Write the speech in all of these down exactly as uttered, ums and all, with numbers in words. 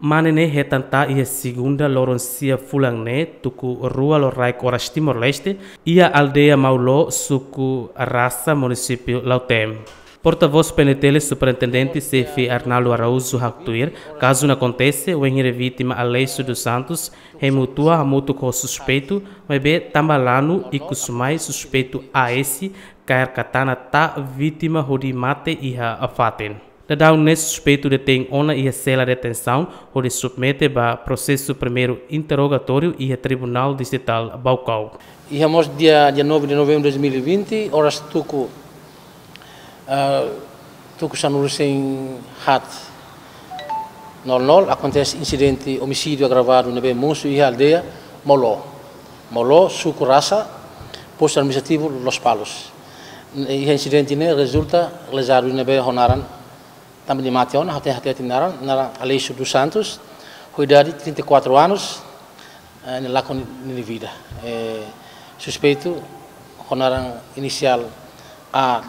Mane ne'e hetan tan iha segunda loron sia fulan ne'e, tuku rua loraik oras Timor-Leste, iha aldeia Mauló, suku Rasa, munisípiu Lautém. Portavós P N T L, Superintendente Xefe Arnaldo Araújo haktuir, kazu ne'e akontese wainhira vítima Aleixo dos Santos hemu tua hamutuk ho suspeitu, maibé tanba lanu, ikus mai suspeitu A S kaer katana tan vítima hodi mate iha fatin. Daudaun ne'e suspeitu detein ona iha sela detensaun hodi submete ba prosesu primeiru interrogatóriu iha Tribunál Distritál Baucau. Iha mós dia, dia nove de novembro de dois mil e vinte, oras tuku, ah, tuku sanulu-resin-haat nol nol, akontese insidente omisídiu agravadu ne'ebé mosu iha aldeia Mauló. Mauló, suku Rasa, postu administrativu Lospalos. Iha insidente ne'e rezulta lesadu ne'ebé ho naran, tanba nia mate ona, ha'u hatete naran, naran Aleixo dos Santos, ho idade trinta e quatro anos, eh, nia lakon ni-, nia vida. Eh, suspeitu ho naran inisiál A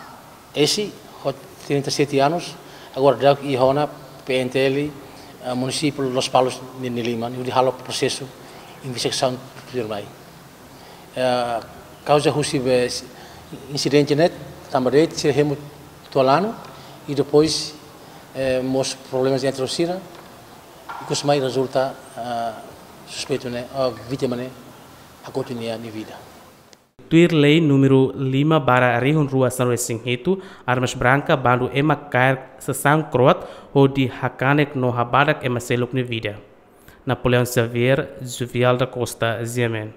S, ho trinta e sete anos, agora daudauk iha ona P N T L, eh, munisípiu Lospalos nia, nia liman, hodi halo prosesu investigasaun tuirmai. Eh, kauza husi be insidente ne'e, tanba de'it sira hemu tua lanu, i depois, eh, mós problemas entre sira, ikus mai rezulta, eh, suspeitu ne'e, eh, vítima ne'e, hakotu nia, nia vida. Tuir lei númeru lima barra rihun rua sanulu-resin-hitu, armas branka bandu ema kaer sasán kroat hodi hakanek no habadak ema seluk nia vida. Napoleão Xavier, Juvial da Costa, G M N.